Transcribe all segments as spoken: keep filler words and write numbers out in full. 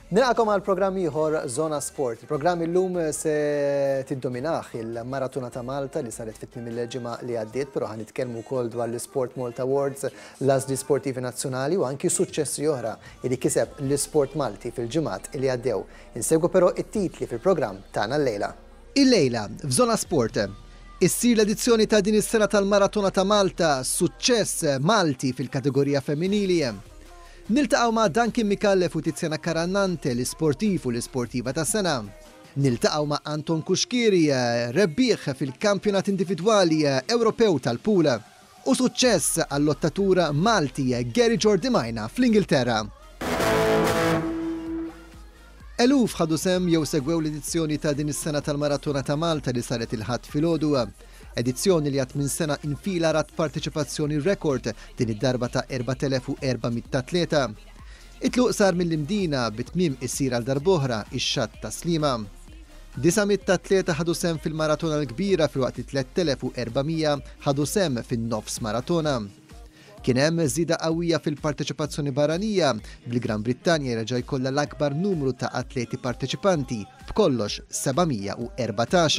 Nilqagħkom għal programm ieħor Zona Sport. Il-programm illum se tiddominah il-Maratona ta' Malta li saret fit-tmiem il-ġimgħa li għaddiet, però ħa nitkellmu wkoll dwar l-Sport Malta Awards, l-għażli sportivi nazzjonali u anki suċċessi oħra li kiseb l-isport Malti fil-ġimgħat li għaddew. Insegwu però it-titli fil-programm tagħna llejla. Illejla f'Zona Sport issir l-edizzjoni ta' din is-sena tal-Maratona ta' Malta, suċċess Malti fil-kategorija femminili. Niltaqgħu ma' Duncan Micallef u Tiziana Carannante, l-isportiv u l-isportiva ta' sena. Niltaqgħu ma' Anton Cuschieri, rebbieħ fil-kampjonat individwali Ewropew tal-pool. U suċċess għall-lottatur Malti Gary Giordimaina fl-Ingilterra. Eluf ħadu sehem jew segwew l-edizzjoni ta' din is-sena tal-Maratona ta' Malta li saret il-Ħadd filgħodu. Edizzjoni li għat minn sena infila rat parteċipazzjoni rekord din id-darba ta' erbat elef u erba' mitt atleta. It-tluq sar mill-Imdina bit-tmiem issir għal darb'oħra ix-xatt ta' Sliema. disa' mitt atleta ħadu sehem fil-maratona l-kbira filwaqt li tliet elef u erba' mija ħadu sehem fin-nofs maratona. Kien hemm żieda qawwija fil-parteċipazzjoni barranija, bil-Gran Brittanja jerġa' jkollha l-akbar numru ta' atleti parteċipanti, b'kollox seba' mija u erbatax.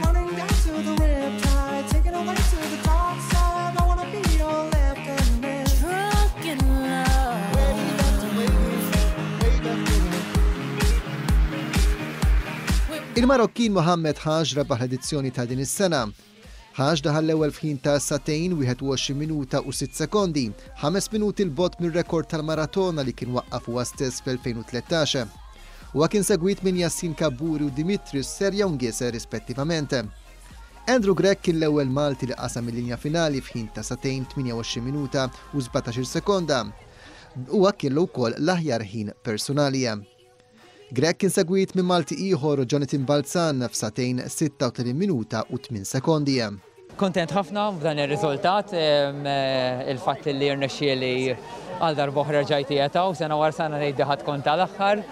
Running down to the riptide, taking away to the dark side. I wanna be your left hand man. Drunk in love. Wave after wave, wave after wave. Il-Marokkin Mohammed Haj rebaħ l-edizzjoni ta' din is-sena. Haj daħal l-ewwel f'ħin ta' sagħtejn wieħed u għoxrin minuta u sitt sekondi, ħames minuti 'l bogħod mir-rekord tal-maratona li kien waqqaf huwa stess fl-elfejn u tlettax. Huwa kien segwit minn Yassin Kaburi u Dimitrios Serjongis rispettivament. Andrew Grech kien l-ewwel Malti li qasam il-linja finali f'ħin ta' sagħtejn tmienja u għoxrin minuta u sbatax-il sekonda. Huwa kellu wkoll l-aħjar ħin personali. Grech kien segwit minn Malti ieħor, Jonathan Balzan, f'sagħtejn sitta u tletin minuta u tmien sekondi. Kontent ħafna b'dan ir-riżultat, em, eh, il-fatt li rnexxieli għal darb'oħra ġajt u sena wara sena ngħid ħadd kont tal-aħħar.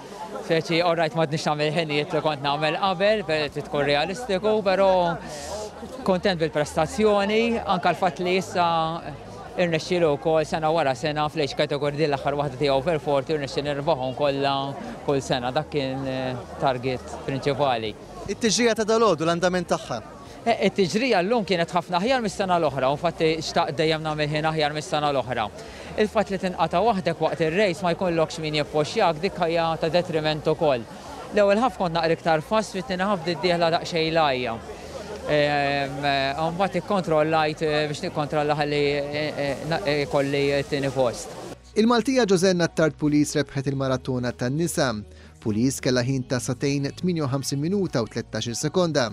Speċi, alright, m'għadniex nagħmel ħinijiet li kont nagħmel qabel, per trid tkun realistiku, però kontent bil-prestazzjoni, anka l-fatt li issa irnexxielu wkoll sena wara sena fl-age category din l-aħħar waħda tiegħu over forty irnexxieli nirbaħhom kollha kull sena. Dak kien eh, target prinċipali. It-tiġrija ta' dalgħodu, l-andament tagħha? Eh, It-tiġrija llum kienet ħafna aħjar mis-sena l-oħra, u infatti xtaqt dejjem nagħmel ħin aħjar mis-sena l-oħra. Il-fatt li tinqata' waħdek waqt ir-race, ma jkollokx min jippoxjak, dik hija ta' detriment ukoll. L-ewwel half kont naqra iktar fast, fit-tieni half dieħla daqsxejn lajja. Mbagħad ikkontrollajt eh, biex nikkontrolla ħalli eh, eh, kolli t-tieni post. Il-Maltija Josenna Tard Pulis rebħet il-maratona tan-nisa. Pulis kella ħin ta' sagħtejn tmienja u ħamsin minuta u tlettax-il sekonda.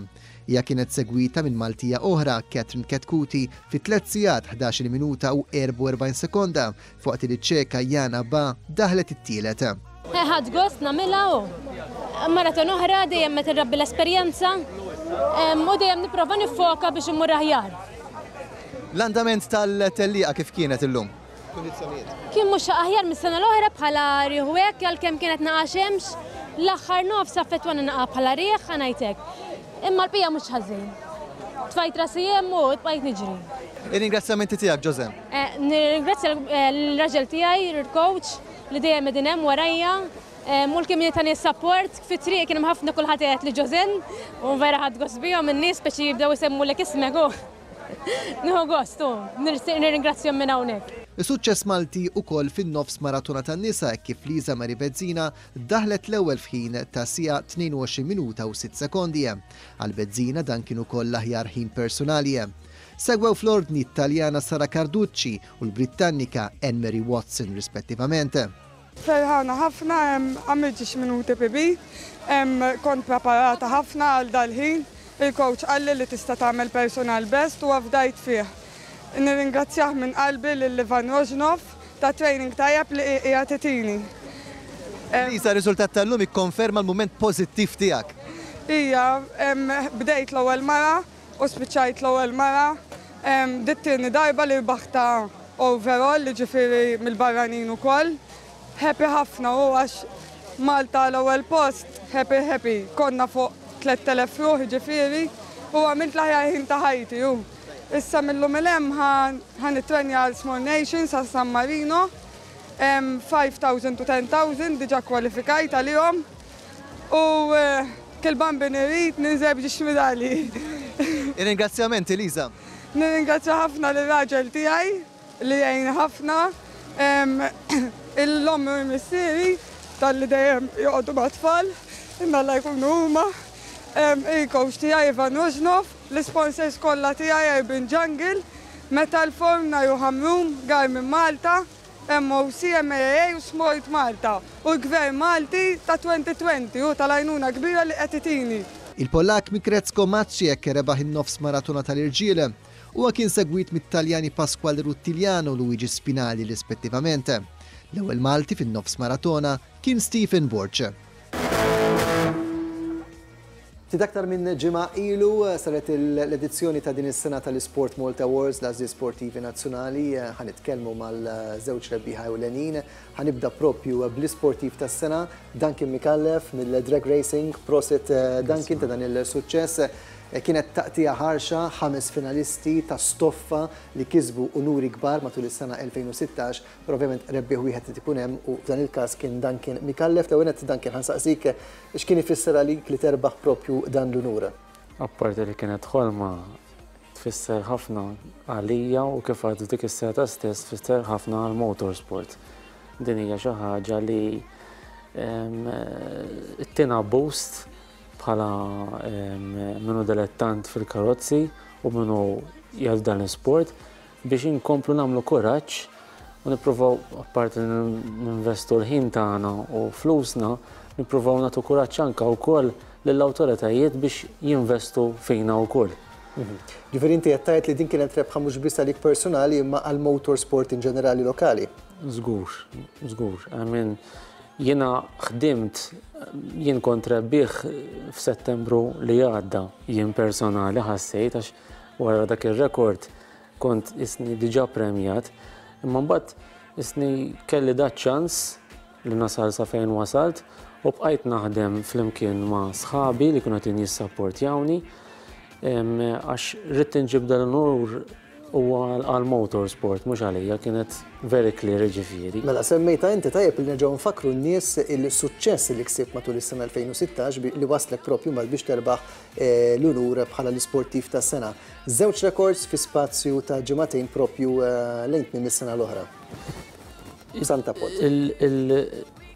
Hija kienet segwita minn Maltija oħra, Catherine Chetcuti, fi tliet sigħat ħdax-il minuta u erbgħa u erbgħin sekonda, filwaqt li ċeka Jana Ba daħlet it-tielet. Ħadt gost nagħmilha u maraton oħra, dejjem meta nrabbi l-esperjenza em, u dejjem nipprova nifoka biex immur aħjar. L-andament tal-tellieqa kif kienet illum? Kondizzjonijiet. Kien mhux aħjar mis-sena l-oħra bħala riħ u hekk, għalkemm kienet naqa xemx, l-aħħar nofs affettwana naqa bħala riħ, ħa ngħidlek. Imma l-bqija mhux ħażin. Tfajt rasi hemm u bqajt niġri. Ir-ringrazzjamenti tiegħek, Josem? Eh, Nirringrazzja l-raġel tiegħi, il-coach, li dejjem qegħdin hemm warajja. U l-kemm tani support, fit-triq kien hemm ħafna, kulħadd qed li Josen, u vera ħadt gost bihom in-nies, speċi jibdew isemmulek ismek u nieħu gost u nirringrazzjahom minn hawnhekk. Suċċess Malti ukoll fin-nofs maratona tan-nisa kif Liza Mari Bezzina daħlet l-ewwel f'ħin ta' siegħa tnejn u għoxrin minuta u sitt sekondi. Għal Bezzina dan kien ukoll l-aħjar ħin personali. Segwew fl-ordni Taljana Sara Carducci u l-Britannika Anne-Mary Watson rispettivament. Ferħana ħafna, għamilt xi minuti P B, kont preparata ħafna għal dal-ħin, il-coach qalli li tista' tagħmel personal best u afdajt fih. Nirringrazzjah minn qalbi lil Ivan Rožnov ta' training tajjeb li qiegħed itini. Lisa, riżultat tal-lum ikkonferma l-mument pożittiv tiegħek. Ija, bdejt l-ewwel mara u spiċċajt l-ewwel mara. Din it-tieni darba li rbaħta overall, li ġifieri mill-barranin ukoll. Happy ħafna u għax Malta l-ewwel post, happy happy. Konna fuq tliet elef ruħ, ġifieri, u għamilt l-aħjar ħin ta' ħajti u. Issa mil-lum 'l hemm ħa nitrenja għal Small Nations għal San Marino. five thousand to ten thousand diġà kwalifikajt għalihom u eh, kull Bambin irid ninżel b'żewġ medalji. Ringrazzjament, Elisa. Nirringrazzja ħafna lir-raġel tiegħi li jgħin ħafna, l-ommi u missieri talli dejjem joqogħdu mat-tfal, imma la jkunu huma. Il-coach tiegħi Ivan Rožnov, l-sponsors kollha tiegħi Urban Jungle, Metal Form, Naju Hamrum, Garmin Malta, M O C, M A A u Sport Malta u l-Gvern Malti ta' elfejn u għoxrin u tal-għajnuna kbira li qed itini. Il-Pollak Mikrecko Maciek rebaħ in-nofs maratona tal-irġiel. Huwa kien segwit mit-Taljani Pasquale Rutigliano u Luigi Spinali rispettivament. L-ewwel Malti fin-nofs maratona kien Stephen Borg. Ftit aktar minn ġimgħa ilu saret l-edizzjoni ta' din is-sena tal-Sport Malta Awards, l-għażliet sportivi nazzjonali. Ħa nitkellmu mal-żewġ rebbieħa ewlenin. Ħa nibda propju bl-isportiv tas-sena, Duncan Micallef mill-Drag Racing. Prosit, Duncan, ta' dan il-suċċess. Kienet taqtija ħarxa, ħames finalisti ta' stoffa li kisbu unuri kbar matul is-sena elfejn u sittax, però ovvjament rebbieħ wieħed qed ikun hemm u f'dan il-każ kien Duncan Micallef. L-ewwel Duncan, ħa nsaqsik x'kien ifisser għalik li terbaħ propju dan l-unur. Apparti li kienet ħolma, tfisser ħafna għalija u kif għadu dik is-seta stess tfisser ħafna għal motorsport. Din hija xi ħaġa li ttina boost bħala min hu dilettant fil-karozzi u min hu jgħal dan l-sport biex inkomplu nagħmlu kuraġġ u nippruvaw, apparti ninvestu l-ħin tagħna u flusna, nippruvaw nagħtu kuraġġ anke wkoll lill-awtoritajiet biex jinvestu fina wkoll. Mhm. Ġifieri inti qed tgħid li din kienet rebħa mhux biss għalik personali imma għal motorsport in ġenerali lokali. Żgur, żgur. I mean, jiena ħdimt, jien kont rebbieħ f'Settembru li għadda, jien personali ħassejt għax wara dak ir-rekord kont isni diġà premjat, imma mbagħad isni kelli da ċans li nasal sa fejn wasalt u bqajt naħdem flimkien ma' sħabi li kienu qed jissapportjawni għax ridt inġib dal-unur huwa għal motorsport, mhux għalija, kienet very clear ġifieri. Mela semmejta inti, tajjeb li nerġgħu nfakru n-nies il-suċċess li ksibt matul is-sena elfejn u sittax li waslek propju mal biex terbaħ eh, l-unur bħala l-isportiv tas-sena. Żewġ records fi spazju ta' ġimagħtejn propju eh, lejn tmiem is-sena l-oħra. Santa Pot.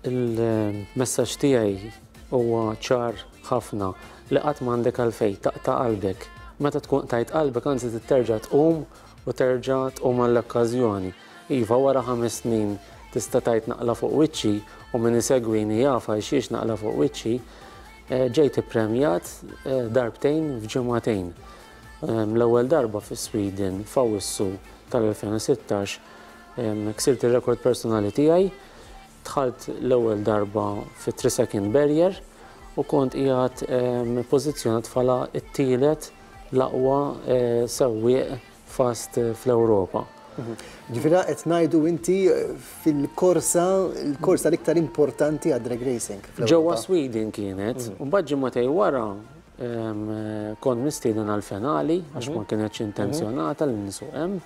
Il-messaġġ tiegħi huwa ċar ħafna li qatt m'għandek għalfejn taqta' qalbek. Meta tkun qtajt qalbek, anzi terġa' tqum u terġa' tqum għall-okkażjoni. Iva, wara ħames snin tista' tgħid naqla' fuq wiċċi u min isegwini jaf għal xiex naqla' fuq wiċċi, eh, ġejt ippremjat eh, darbtejn f'ġimagħtejn. L-ewwel darba fi Sweden f'Awwissu tal-elfejn u sittax ksirt ir-rekord personali tiegħi, dħalt l-ewwel darba fi three second barrier u kont qiegħed pożizzjonat bħala t-tielet l-aqwa eh, sewwieq fast fl-Ewropa. Ġifieri qed ngħidu inti fil-korsa, il-korsa l-iktar importanti għad drag racing. Ġewwa Sweden kienet, u mbagħad ġimagħtejn wara kont mistieden għal-finali għax ma kienetx intenzjonata li nsuq hemm.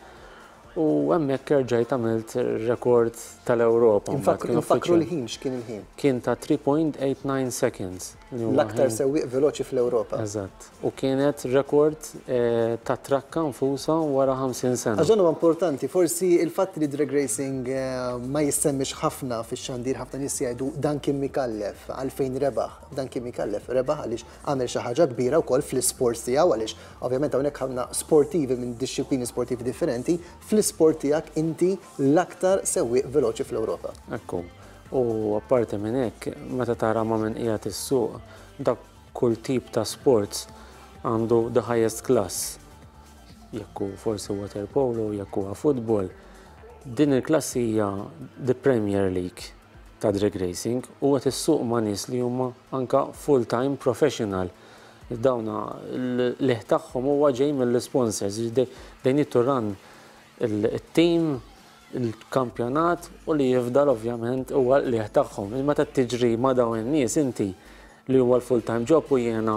U hemmhekk erġajt għamilt rekord tal-Ewropa. Nfakru l-ħin, x'kien il-ħin? Kien ta' three point eight nine seconds. L-aktar sewwieq veloċi fl-Ewropa. Eżatt. U kienet rekord eh, ta' trakka nfusa wara ħamsin sena. Għax dan huwa importanti, forsi il-fatt li drag racing eh, ma jissemmix ħafna fix-xandir, ħafna nies jgħidu Duncan Micallef, għalfejn rebaħ. Duncan Micallef rebaħ għaliex għamel xi ħaġa kbira wkoll fl-isport tiegħu, għaliex ovvjament hawnhekk ħafna sportivi minn dixxiplini sportivi differenti, fl-isport tiegħek inti l-aktar sewwieq veloċi fl-Ewropa. Ekku. U apparti minn hekk, meta tara ma' min qiegħed issuq, dak kull tip ta' sports għandu the highest class. Jekk hu forsi water polo, jekk huwa football. Din il-klassi hija the Premier League ta' drag racing u qed issuq ma' nies li huma anka full-time professional. Dawna l-qligħ tagħhom huwa ġej mill-sponsors. They need to run il-team, il-kampjonat u li jifdal ovvjament huwa l-qligħ tagħhom. Meta tiġri ma' dawn in-nies inti li huwa l-full-time job u jiena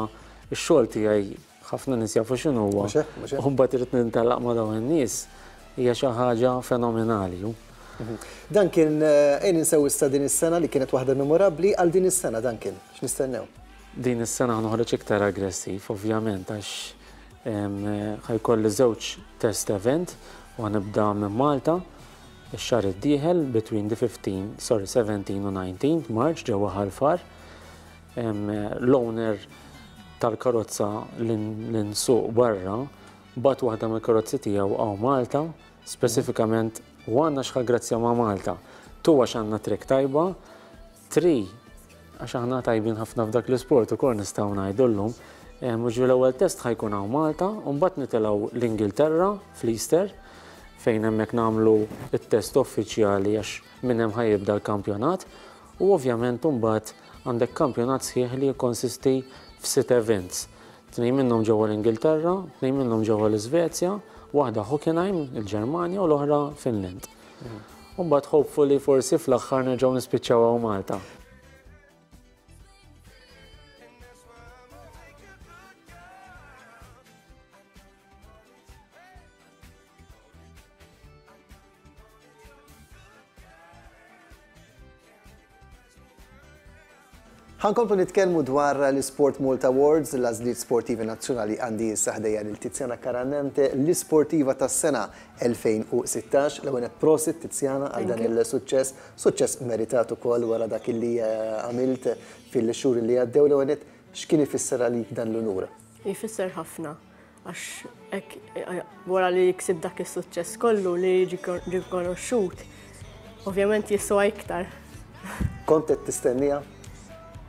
x-xogħol tiegħi ħafna nies jafu x'inhu huwa. U mbagħad irid nintelaq ma' dawn in-nies hija xi ħaġa fenomenali. Dan kien ejn insew issa din is-sena li kienet waħda memorabbli għal din is-sena dan kien. X'nistennew? Din is-sena noħroġ iktar aggressiv, ovvjament, għax ħa jkolli żewġ test event u nibda minn Malta ix-xahar id-dieħel between the fifteen, sorry, seventeen u nineteen March ġewwa Ħal Far. L-owner tal-karozza li nsuq barra bat waħda mill-karozzi tiegħu hawn Malta, speċifikament one għax ħa grazzja ma' Malta, two għax għandna trek tajba, three għax aħna tajbin ħafna f'dak l-isport ukoll nistgħu ngħidu llum. Mhux l-ewwel test ħa jkun hawn Malta, u mbagħad nitilgħu l-Ingilterra fl-Easter fejn hemmhekk nagħmlu it-test uffiċjali għax minn hemm ħa jibda l-kampjonat, u ovvjament mbagħad għandek kampjonat sħiħ li jikkonsisti f'sitt events. Tnejn minnhom ġewwa l-Ingilterra, tnejn minnhom ġewwa l-Iżvezja, waħda Hockenheim, il-Ġermanja, u l-oħra Finland. U mbagħad hopefully forsi fl-aħħar nerġgħu nispiċċaw hawn Malta. Ħa nkomplu nitkellmu dwar l-Sport Malta Awards, l-għażliet sportivi nazzjonali. Għandi issa ħdejja lil Tiziana Carannante, l-isportiva tas-sena elfejn u sittax. L-ewwel nett prosit Tiziana għal dan il-suċċess, suċċess meritat ukoll wara dak li għamilt fil-xhur li għaddew. L-ewwel nett x'kien ifisser għalik dan l-unur? Ifisser ħafna, għax hekk wara li ksib dak is-suċċess kollu li jiġi rikonoxxut, ovvjament jiswa iktar. Kont qed tistennija?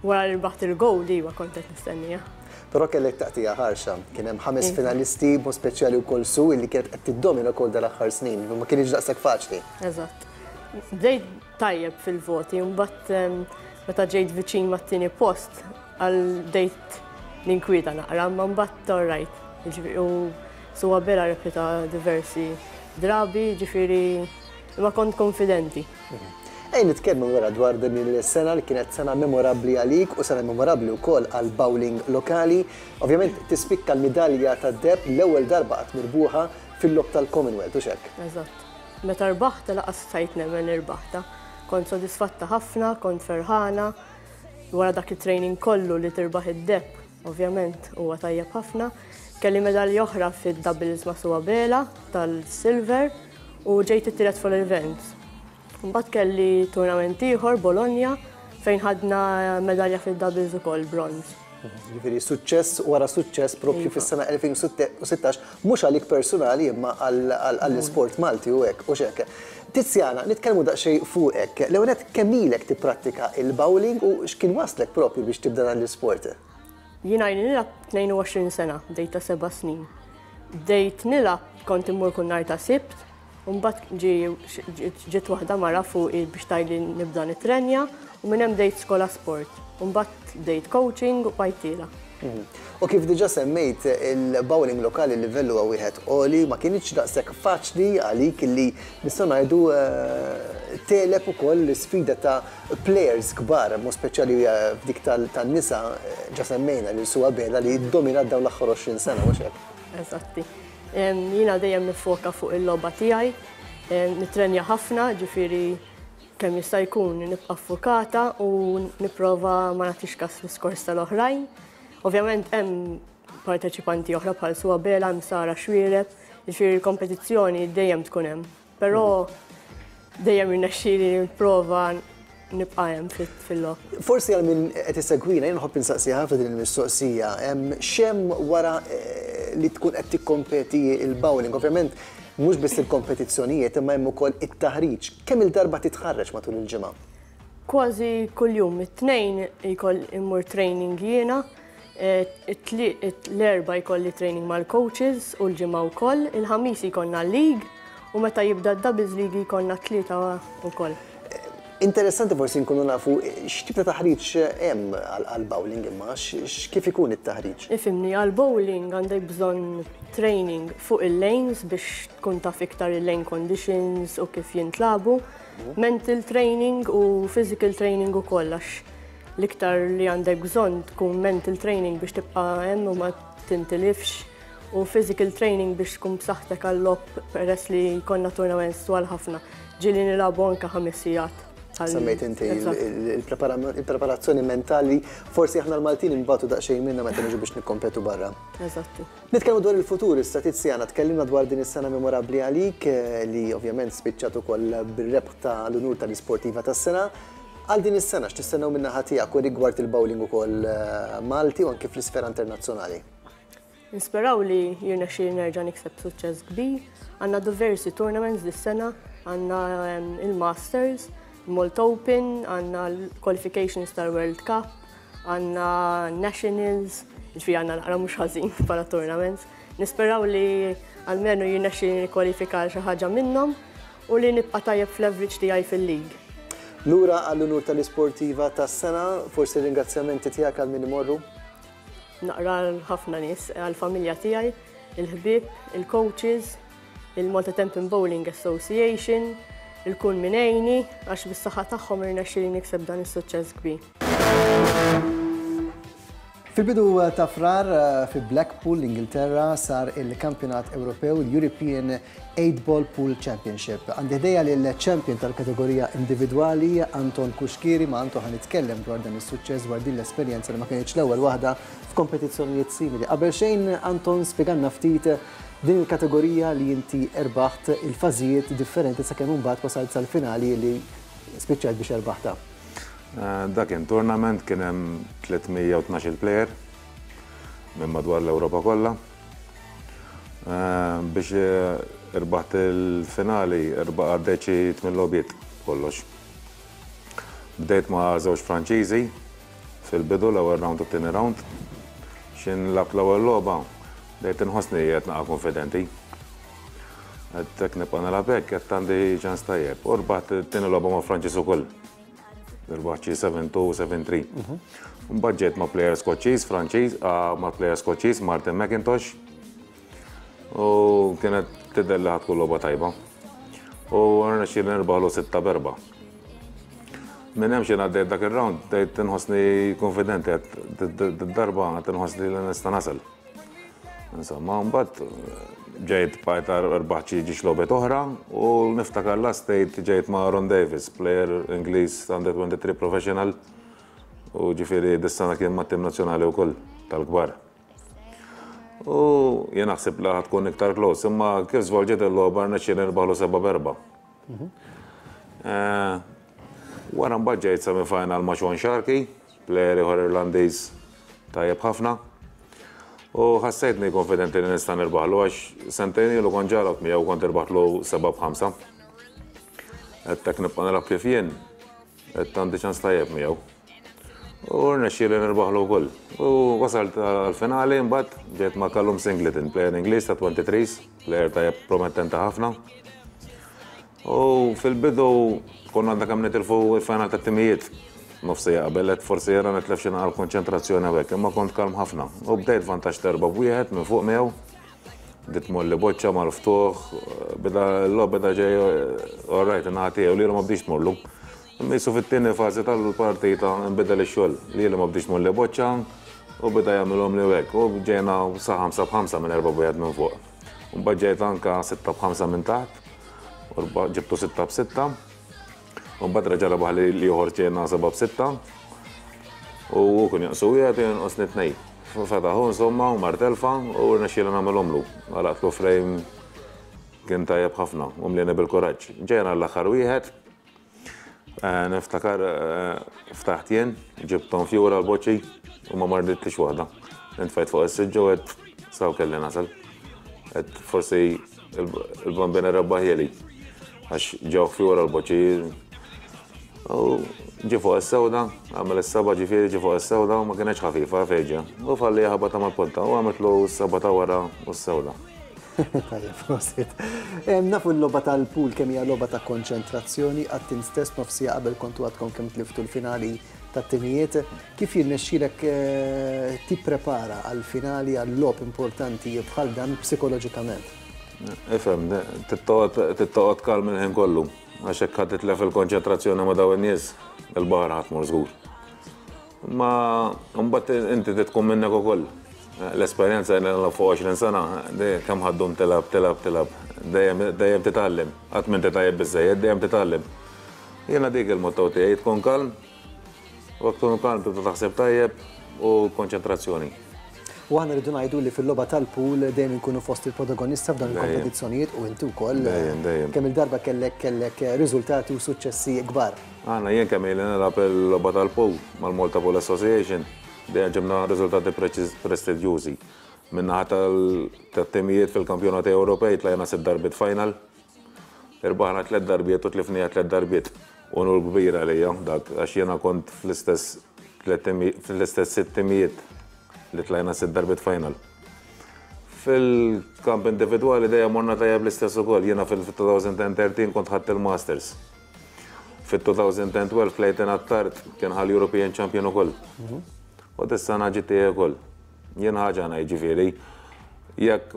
Wara li rbaħt il-gold, iva, kont qed nistennija. Però kellek taqtija ħarxa, kien hemm ħames finalisti, mod speċjali wkoll Su illi kienet qed tiddomina wkoll dal-aħħar snin, ma kienx daqshekk faċli. Eżatt. Bdejt tajjeb fil-voti, mbagħad meta ġejt viċin mat-tieni post, għal bdejt ninkwieta naqra, ma mbagħad all right. Jiġifieri, u Sue Abela repeta diversi drabi, jiġifieri ma kont konfidenti. Ejn nitkellmu wara dwar din il-sena li kienet sena memorabbli għalik u sena memorabbli wkoll għal bowling lokali. Ovvjament tispikka l-midalja tad-deheb l-ewwel darba qatt mirbuħa fil-logħob tal-Commonwealth, u x'hekk? Eżatt. Meta rbaħta laqas stajt nemmen li rbaħta. Kont sodisfatta ħafna, kont ferħana. Wara dak it-training kollu li tirbaħ id-deheb, ovvjament huwa tajjeb ħafna. Kelli medalja oħra fid-doubles ma' Sue Abela tal-silver u ġejt it-tielet full events. Mbagħad kelli tournament ieħor Bologna fejn ħadna medalja fid-doubles ukoll bronz. Jiġifieri suċċess wara suċċess propju Iva. fis-sena elfejn u sittax, mhux għalik personali imma għall-isport Malti u hekk u x'hekk. Tiziana, nitkellmu daqsxejn fuqek. L-ewwel nett kemm ilek tipprattika il-bowling u x'kien waslek propju biex tibda dan l-isport? Jiena ili nilgħab tnejn u għoxrin sena, bdejt ta' seba' snin. Bdejt nilgħab kont immur kull nhar ta' Sibt, u mbagħad ġi-, ġiet waħda mara fuqi biex tgħidli nibda nitrenja u minn hemm bdejt skola sport. U mbagħad bdejt coaching u bqajt tiela. Mhm. U kif diġà semmejt, il-bowling lokali il-livell huwa wieħed għoli, ma kienx daqshekk faċli għalik li nistgħu ngħidu, eh, teleb ukoll l-isfida ta' players kbar, mod speċjali, eh, f'dik tal-, tan-nisa, eh, ġa semmejna lil Sue Abela li ddominat dawn l-aħħar għoxrin sena, mhux hekk? Eżatti. Em, jiena dejjem nifoka fuq il-logħba tiegħi, em, nitrenja ħafna, ġifieri kemm jista' jkun nibqa' ffukata u nipprova ma nagħtix kas l-iskors tal-oħrajn. Ovvjament hemm parteċipanti oħra bħal Sue Abela, hemm Sara Xuereb, ġifieri l-kompetizzjoni dejjem tkun hemm. Però dejjem irnexxieli nipprova nibqa' hemm fil-logħob. Forsi għal min qed isegwina, jien nħobb insaqsi ħafna din il-mistoqsija, hemm x'hemm wara, eh, li tkun qed tikkompeti il-bowling? Ovvjament mhux biss il-kompetizzjonijiet imma hemm ukoll it-taħriġ. Kemm il-darba titħarreġ matul il-ġimgħa? Kważi kuljum, it-tnejn jkoll immur training jiena, eh, it-tli-, it-, l-erba' jkolli training mal-coaches u l-ġimgħa wkoll, il-ħamis jkollna league u meta jibda d-doubles league jkollna tlieta wkoll. Interessanti forsi nkunu nafu x'tip ta' taħriġ hemm għal-bowling imma, x-, x-, kif ikun it-taħriġ? Ifhimni, għal-bowling għandek bżonn training fuq il-lanes biex tkun taf iktar il-lane conditions u kif jintlabu, mental training u physical training ukoll, għax l-iktar li għandek bżonn tkun mental training biex tibqa' hemm u ma tintilifx, u physical training biex tkun b'saħħtek għall-logħob peress li jkollna tournaments twal ħafna. Ġieli nilagħbu anke ħames sigħat. Semmejt inti il-preparazzjoni mentali, forsi aħna l-Maltin nbatu daqsxejn minna meta niġu biex nikkompetu barra. Eżatti. Nitkellmu dwar il-futur, issa Tiziana, tkellimna dwar din is-sena memorabbli għalik li ovvjament spiċċat ukoll bir-rebħ tal-unur tal-isportiva tas-sena. Għal din is-sena x'tistennew min-naħa tiegħek u rigward il-bowling ukoll Malti u anke fl-isfera internazzjonali? Nisperaw li jirnexxieli nerġa' nikseb suċċess kbir. Għandna diversi tournaments dis-sena, għandna il-Masters, Malta Open, għandna l-Qualifications tal-World Cup, għandna Nationals, ġifieri għandna naqra mhux ħażin bħala tournaments. Nisperaw li almenu jirnexxieli nikkwalifika xi ħaġa minnhom u li nibqa' tajjeb fl-average tiegħi fil-league. Lura għall-unur tal-isportiva tas-sena, forsi ringrazzjamenti tiegħek għal min imorru? Naqra ħafna nies, għall-familja tiegħi, il-ħbieb, il-coaches, il-Malta Tenpin Bowling Association, il-kull min għenni, għax bis-saħħa tagħhom irnexxieli nikseb dan is-suċċess kbir. Fil-bidu ta' Frar fi Blackpool, l-Ingilterra, sar il-Kampjonat Ewropew, l-European eight Ball Pool Championship. Għandi ħdejja lill-champion tal-kategorija individwali, Anton Cuschieri, ma' Anton ħa nitkellem dwar dan is-suċċess, dwar din l-esperjenza li ma kienx l-ewwel waħda f'kompetizzjonijiet simili. Qabel xejn, Anton, spjegalna ftit din il-kategorija li inti erbaħt, il-fażijiet differenti sakemm imbagħad wasalt sal-finali li spiċċajt biex erbaħta. Dak kien tournament, kien hemm tliet mija u tnax-il player minn madwar l-Ewropa kollha. Biex irbaħt il-finali, erba' għaddejt xi tmien logħbiet kollox. Bdejt ma' żewġ Franċiżi fil-bidu, l-ewwel round u t-tieni round. X'in lgħabt l-ewwel logħba, bdejt inħossni qed naqa' konfidenti. Qed hekk nibqa' nilgħab hekk, qed għandi ċans tajjeb. U rbaħt it-tieni logħba ma' Franċiż ukoll. Irbaħt xi seven two, seven three. Mbagħad ġejt ma' player Skoċċiż, Franċiż, ma' player Skoċċiż, Martin McIntosh. U kienet tidher li ħadd tkun logħba tajba. U rnexxieli nirbaħlu sitta b'erba'. Minn hemm xi ngħaddejt dak ir-round, bdejt inħossni konfidenti, qed darba qed inħossni li nista' nasal. Insomma, mbagħad ġejt bqajt rbaħt xi ġiex logħbiet oħra u niftakar last state ġejt ma' Ron Davis, player Ingliż under twenty-three professional, u ġifieri dis-sena kien mat-tim nazzjonali wkoll tal-kbar. U jien naħseb li ħad tkun iktar close, imma kif żvolġiet il-logħba rnexxieli nirbaħlu seba' b'erba'. Wara mbagħad ġejt semi-final ma' Sean Sharkey, player ieħor Irlandiż tajjeb ħafna. U ħassejtni konfidenti li nista' nirbaħlu għax sentejn ilu kont ġarab miegħu kont irbaħlu seba' b'ħamsa. Qed hekk nibqa' nilgħab kif jien, qed għandi ċans tajjeb miegħu. U rnexxieli nirbaħlu wkoll. U wasalt għall-finali mbagħad ġejt ma' Callum Singleton, player Ingliż ta' twenty-threes, player tajjeb promettenti ħafna. U fil-bidu konna għandna kemm nitilfu l-final tat-timijiet. Nofsija qabel, qed forsi jera nitlef xi naqra konċentrazzjoni hawnhekk, imma kont kalm ħafna. U bdejt vantaġġ ta' erba' b'wieħed minn fuq miegħu. Bdiet tmolli boċċa mal-ftuħ, beda l-logħob beda ġej, all right, in-naħa tiegħu li ma bdiex tmorlu. Imma jisu fit-tieni fażi tal-partita nbidel ix-xogħol, li ma bdiex tmolli boċċa u beda jagħmilhom li hekk. U ġejna sa ħamsa b'ħamsa minn erba' b'wieħed minn fuq. U mbagħad ġejt anka sitta b'ħamsa minn taħt, u ġibtu sitta b'sitta. U mbagħad reġa' rebaħ li ieħor ġejna seba' b'sitta. U hu kien jonqsu wieħed u jonqosni tnejn. Fetaħu insomma u mar telfa u rnexxieli nagħmilhomlu. Għalaqtlu frame kien tajjeb ħafna u mlieni bil-kuraġġ. Ġejna l-aħħar wieħed. Niftakar ftaħt jien, ġibthom fjura l-boċċi u ma marditlix waħda. Intfajt fuq is-siġġu u għedt saw kelli nasal. Għedt forsi il-bambina rebbaħieli għax ġew fjura l-boċċi. U ġi fuq is-sewda, għamel is-seba' ġifieri ġi fuq is-sewda u ma kienx ħafifa fejġa. U falli ħabata mal-ponta u għamiltlu s-seba' ta' wara u s-sewda. Tajjeb, prosit. Nafu l-logħba tal-pool kemm hija logħba ta' konċentrazzjoni, għat-tim stess nofsija qabel kontu għadkom kemm tliftu l-finali tat-timijiet. Kif jirnexxielek tipprepara għall-finali, għall-logħob importanti bħal dan psikoloġikament? Ifhem, tittoqgħod kalm il-ħin kollu. Għax hekk ħadd titlef il-konċentrazzjoni ma' dawn in-nies, il-baħar ħadd tmur żgur. Ma mbagħad inti tkun minnek ukoll. L-esperjenza jien fuq għoxrin sena, kemm ħa ddum tilgħab, tilgħab, tilgħab. Dejjem titgħallem. Qatt m'inti tajjeb biżejjed, dejjem titgħallem. Jiena dik il-motto tiegħi, tkun kalm, u tkun kalm tibda taħseb tajjeb u konċentrazzjoni. U aħna rridu ngħidu li fil-logħba tal-pool dejjem inkunu fost il-protagonista f'dan il-kompetizzjonijiet u inti wkoll kemm il-darba kellek kellek riżultati u suċċessi kbar. Aħna jien kemm ili nilgħab il-logħba tal-pool mal-Malta Pool Association, dejjem ġibna riżultati prestiġjużi. Min-naħa tat-timijiet fil-kampjonati Ewropej tlajna sitt darbiet final, irbaħna tliet darbiet u tlifnija tliet darbiet. Unur kbir għalija dak, għax jiena kont fl-istess fl-istess sitt timijiet li tlajna sitt darbiet final. Fil-kamp individwali dejjem morna tajjeb l-istess ukoll. Jiena fil-elfejn u tlettax kont ħadt il-Masters. Fil-elfejn u tnax Clayton Attard kien ħa l-European Champion ukoll. U dis-sena ġiet tiegħi ukoll. Jien ħaġa ngħid, ġifieri, jekk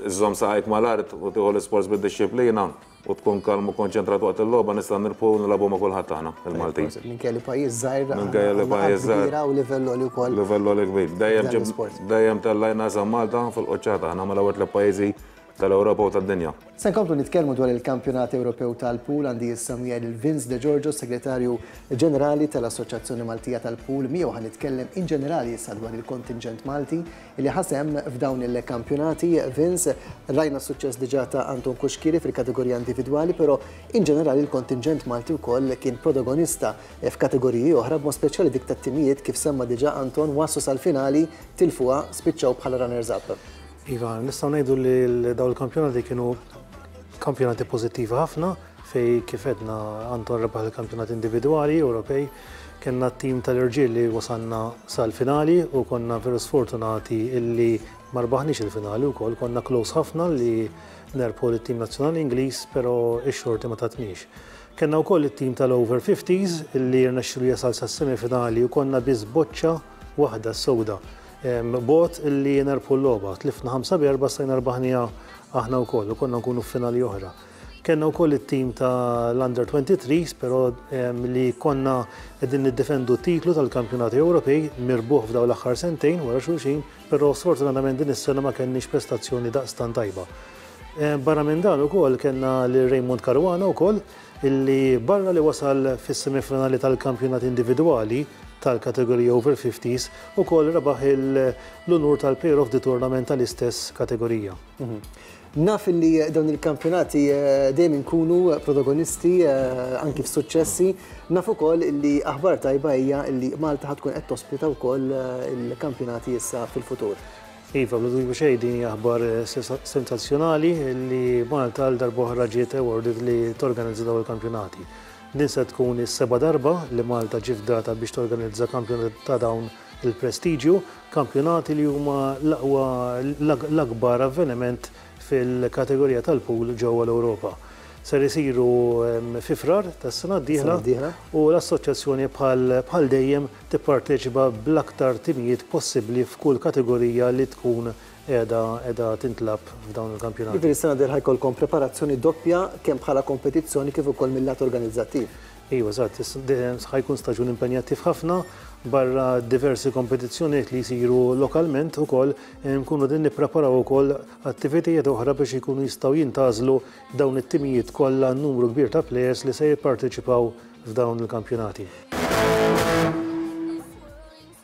iżżomm saqajk mal-art u tieħu l-isports bid-dixxiplina u tkun kalm u konċentrat waqt il-logħba, nista' nirbħu nilagħbu ma' kulħadd aħna il-Maltin. Minkejja li pajjiż żgħir, Minkejja li pajjiż żgħir. kbira u livell għoli wkoll. Livell għoli kbir. Dejjem dejjem tellajna sa Malta fil-quċċata, aħna mal-ewwel tliet pajjiżi tal-Ewropa u tad-dinja. Se nkomplu nitkellmu dwar il-Kampjonat Ewropew tal-Pool. Għandi issa miegħi lil Vince De Giorgio, Segretarju Ġenerali tal-Assoċjazzjoni Maltija tal-Pool. Miegħu ħa nitkellem in ġenerali issa dwar il-kontingent Malti li ħa sehem f'dawn il-kampjonati. Vince, rajna suċċess diġà ta' Anton Cuschieri fil-kategorija individwali, però in ġenerali il-kontingent Malti wkoll kien protagonista f'kategoriji oħra, b'mod speċjali dik tat-timijiet. Kif semma diġà Anton, waslu sal-finali, tilfuha, spiċċaw bħala runners-up. Iva, nistgħu ngħidu li dawn il-kampjonati kienu kampjonati pożittivi ħafna, fej kif għedna Anton rebaħ il-kampjonat individwali Ewropej, kellna tim tal-irġiel li wasalna sal-finali u konna veru sfortunati illi ma rbaħniex il-finali wkoll, konna close ħafna li nerbħu l-tim nazzjonali Ingliż, però ix-xorti ma tatniex. Kellna wkoll it-tim tal-over fifties illi rnexxielu jasal sas-semifinali u konna biss boċċa waħda sewda bogħod illi nerbħu l-logħba. Tlifna ħamsa b'erba', stajna rbaħnija aħna wkoll u konna nkunu f'finali oħra. Kellna wkoll it-tim tal-Under twenty-three, però li konna qegħdin niddefendu titlu tal-Kampjonati Ewropej mirbuħ f'dawn l-aħħar sentejn wara xulxin, però sfortunatament din is-sena ma kenniex prestazzjoni daqstan tajba. Barra minn dan ukoll kellna lil Raymond Caruana wkoll, illi barra li wasal fis-semifinali tal-kampjonat individwali tal-kategorija over fifties, ukoll rebaħ l-unur tal-Player of the Tournament tal-istess kategorija. Mhm. Naf li dawn il-kampjonati eh, dejjem inkunu protagonisti eh, anki f'suċċessi. Naf ukoll li aħbar tajba hija li Malta ħa tkun qed tospita wkoll eh, il-kampjonati issa fil-futur. Iva, bla dubju xejn din hija aħbar sensazzjonali li Malta għal darb'oħra ġiet awarded li torganizza dawn il-kampjonati. Din se tkun is-seba' darba li Malta ġiet fdata biex torganizza kampjonati ta' dawn il-prestiġju, kampjonati li huma l-aqwa, l-akbar avveniment fil-kategorija tal-pool ġewwa l-Ewropa. Ser isiru fi Frar tas-sena d-dieħla u l-assoċjazzjoni bħal dejjem tipparteċipa bl-aktar timijiet possibbli f'kull kategorija li tkun qiegħda qiegħda tintlagħab f'dawn il-kampjonati. Jiġifieri s-sena d-dieħla jkollkom preparazzjoni doppja, kemm bħala kompetizzjoni kif ukoll mill-lat organizzattiv. Iva, eżatt, ħa jkun staġun impenjattiv ħafna. Barra diversi kompetizzjonijiet li jsiru lokalment ukoll, nkunu din nippreparaw ukoll attivitajiet oħra biex ikunu jistgħu jintgħażlu dawn it-timijiet kollha, numru kbir ta' players li se jipparteċipaw f'dawn il-kampjonati.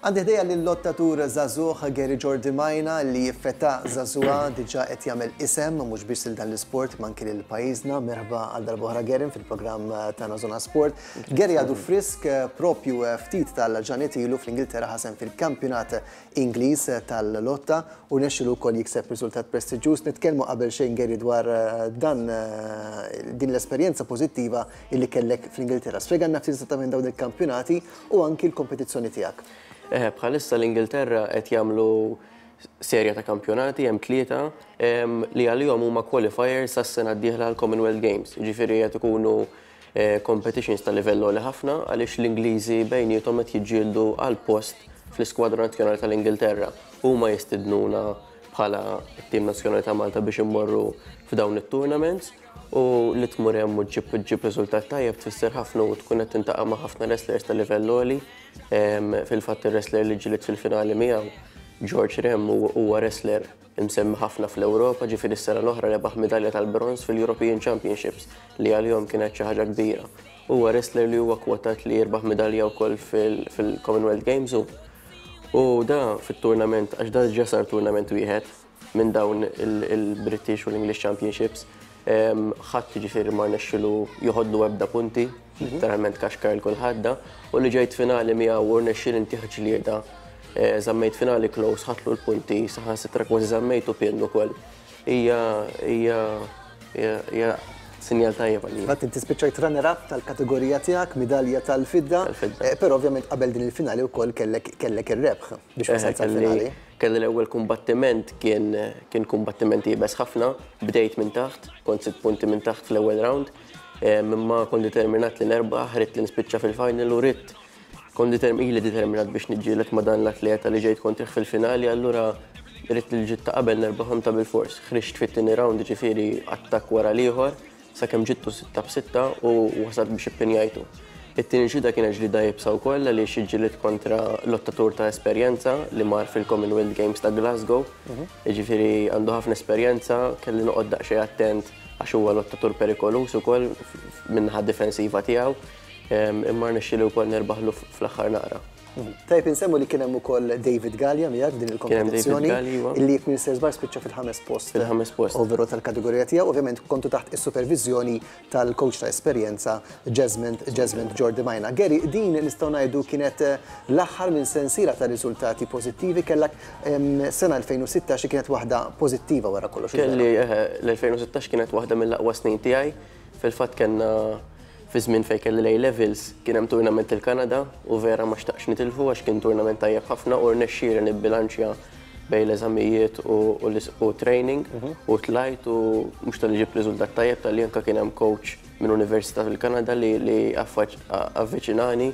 Għandi ħdejja l-lottatur żagħżugħ Gary Giordimaina, li f'età żagħżugħa diġà qed jagħmel isem mhux biss lil dan l-isport imma anki lil pajjiżna. Merħba għal darb'oħra, Gary, fil-programm tagħna Zona Sport. Gary għadu frisk, propju ftit tal-ġranet ilu fl-Ingilterra ħa sehem fil-kampjonat Ingliż tal-lotta u rnexxielu wkoll jikseb riżultat prestiġjuż. Nitkellmu qabel xejn, Gary, dwar dan din l-esperjenza pożittiva illi kellek fl-Ingilterra. Spjegalna ftit esattament dawn il-kampjonati u anki l-kompetizzjoni tiegħek. Eh, bħalissa l-Ingilterra qed jagħmlu serja ta' kampjonati, hemm tlieta li għalihom huma qualifiers sas-sena d-dieħla għall-Commonwealth Games. Jiġifieri qed ikunu eh, competitions ta' livell għoli ħafna, għaliex l-Ingliżi bejniethom qed jiġġieldu għal post fl-iskwadra nazzjonali tal-Ingilterra. Huma jistidnuna bħala t-tim nazzjonali ta' Malta biex immorru f'dawn it-tournaments, u li tmur hemm u ġġib ġġib riżultat tajjeb tfisser ħafna u tkun qed tintaqa' ma' ħafna wrestlers ta' livell għoli. Fil-fatt ir-wrestler li ġġilidt fil-finali miegħu George Rem huwa wrestler imsemmi ħafna fl-Ewropa, ġifieri s-sena l-oħra rebaħ medalja tal-bronż fil-European Championships li għalihom kienet xi ħaġa kbira. Huwa wrestler li huwa kwotat li jirbaħ medalja wkoll fil-Commonwealth Games u u da fit-tournament, għax da ġa sar tournament wieħed minn dawn il-British u l-English Championships, ħadd ġifieri ma rnexxilu joħodlu ebda punti, literalment kaxkar lil kulħadd da, u li ġejt finali miegħu u rnexxieli ntih ġlieda, żammejt finali close, ħadtlu l-punti, saħansitra kważi żammejtu pin ukoll. Hija hija hija sinjal tajjeb għalija. Fatt inti spiċċajt runner-up tal-kategorija tiegħek, midalja tal-fidda, però ovvjament qabel din il-finali wkoll kellek kellek ir-rebħ biex wasalt sal-finali. Kelli l-ewwel kumbattiment kien kien kumbattiment iebes ħafna, bdejt minn taħt, kont sitt punti minn taħt fl-ewwel round, imma kont determinat li nerbaħ, ridt li nispiċċa fil-final u ridt kont ili determinat biex niġġieled ma' dan l-atleta li ġejt kontrih fil-finali, allura ridt li l-ġitt ta' qabel nerbaħhom ta' bilfors. Ħriġt fit-tieni round, ġifieri attakk wara l-ieħor, sakemm ġittu sitta b'sitta u wasalt biex ippinjajtu. It-tieni ġlieda kienet ġlieda iebsa wkoll għaliex iġġielidt kontra lottatur ta' esperjenza li mar fil-Commonwealth Games ta' Glasgow. Jiġifieri għandu ħafna esperjenza, kelli noqgħod daqsxejn attent għax huwa lottatur perikoluż ukoll min-naħa difensiva tiegħu, imma rnexxieli wkoll nerbaħlu fl-aħħar naqra. Tajjeb insemmu li kien hemm ukoll David Gallia miegħek f'din il-kompetizzjoni, illi jekk minn żbar spiċċa fil-ħames post. Fil-ħames post. Overall tal-kategorija tiegħu, ovvjament kontu taħt is-supervizjoni tal-coach ta' esperjenza Jasmine Jasmine Jordi Majna. Gary, din nistgħu ngħidu kienet l-aħħar minn sensiela ta' riżultati pożittivi, kellek sena elfejn u sittax li kienet waħda pożittiva wara kollox. Kelli l-elfejn u sittax kienet waħda mill-aqwa snin tiegħi. Fil-fatt kellna fi żmien fejn kelli l-A levels kien hemm tournament il-Kanada u vera ma xtaqx nitilfu għax kien tournament tajjeb ħafna u rnexxieli nibbilanċja bejn l-eżamijiet u training u tlajt u mhux tal-li ġib riżultat tajjeb tal-li anke kien hemm coach minn università fil-Kanada li avviċinani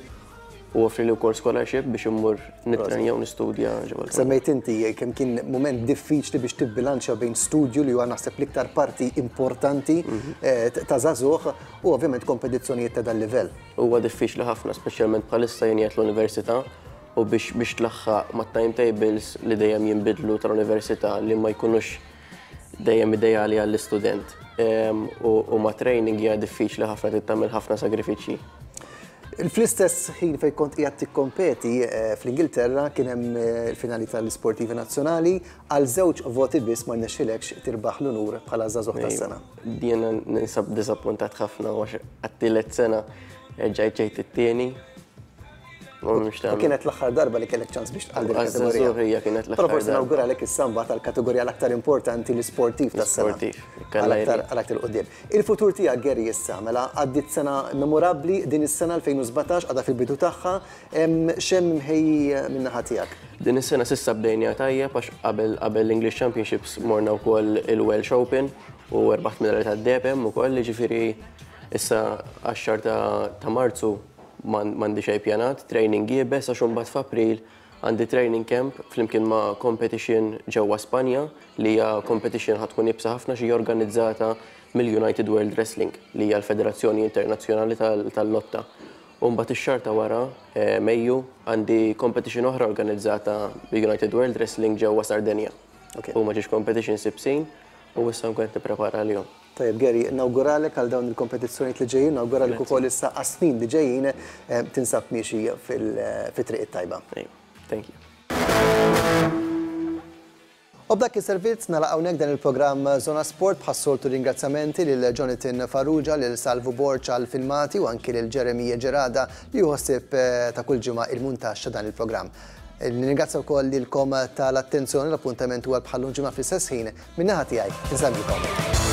u offri li wkoll scholarship biex immur nittrenja u nistudja ġewwa l-Kanada. Semmejt inti kemm kien mument diffiċli biex tibbilanċja bejn studju li huwa naħseb l-iktar parti importanti ta' żagħżugħ u ovvjament kompetizzjonijiet ta' dan livell. Huwa diffiċli ħafna, speċjalment bħalissa jien qiegħed l-università u biex biex tlaħħaq mat-timetables li dejjem jinbidlu tal-università li ma jkunux dejjem ideali għall-istudent. U ma' training hija diffiċli ħafna, trid tagħmel ħafna sagrifiċċji. Fl-istess ħin fejn kont qiegħed tikkompeti fl-Ingilterra kien hemm il-finali tal-Isportivi Nazzjonali, għal żewġ voti biss ma rnexxilekx tirbaħ l-unur bħala żagħżugħ tas-sena. Jiena ninsab diżappuntat ħafna għax għat-tielet sena ġejt ġejt it-tieni. U kienet l-aħħar darba li kellek ċans biex tqal din il-kategorija. Hija kienet l-aħħar. Però forsi nawguralek issa mbagħad għall-kategorija l-aktar importanti, l-isportiv tas-sena. Sportiv. Għal aktar quddiem. Il-futur tiegħek Gary issa mela għaddiet sena memorabbli din is-sena elfejn u sbatax għadha fil-bidu tagħha, x'hemm imħejji min-naħa tiegħek? Din is-sena s'issa bdejna tajjeb għax qabel qabel l-English Championships morna wkoll il-Welsh Open u rbaħt medalja tad-deheb hemm ukoll, jiġifieri issa għax-xahar ta' Marzu m'għandi xejn pjanat, training iebes għax imbagħad f'April għandi training camp flimkien ma' competition ġewwa Spanja li hija competition ħa tkun iebsa ħafna xi organizzata mill-United World Wrestling li hija l-Federazzjoni Internazzjonali tal-Lotta. U mbagħad ix-xahar ta' wara, Mejju, għandi competition oħra organizzata mill-United World Wrestling ġewwa Sardenja. Huma ġiex competition sibsin u issa nkun qed nipprepara għalihom. Tajjeb Gary, nawguralek għal dawn il-kompetizzjonijiet li ġejjin, nawguralek ukoll issa għas-snin li ġejjin tinsab miexi fit-triq it-tajba. Thank you. U b'dak is-servizz nagħlaq hawnhekk dan il-programm Zona Sport bħas-soltu ringrazzjamenti lil Jonathan Farrugia, lil Salvu Borg għal filmati u anki lil Jeremy Gerada li jħossib ta' kull ġimgħa il-muntaġġ ta' dan il-programm. Nirringrazzja wkoll lilkom tal-attenzjoni, l-appuntament huwa bħal ġimgħa fl-istess ħin. Min-naħa tiegħi, insellmilkom.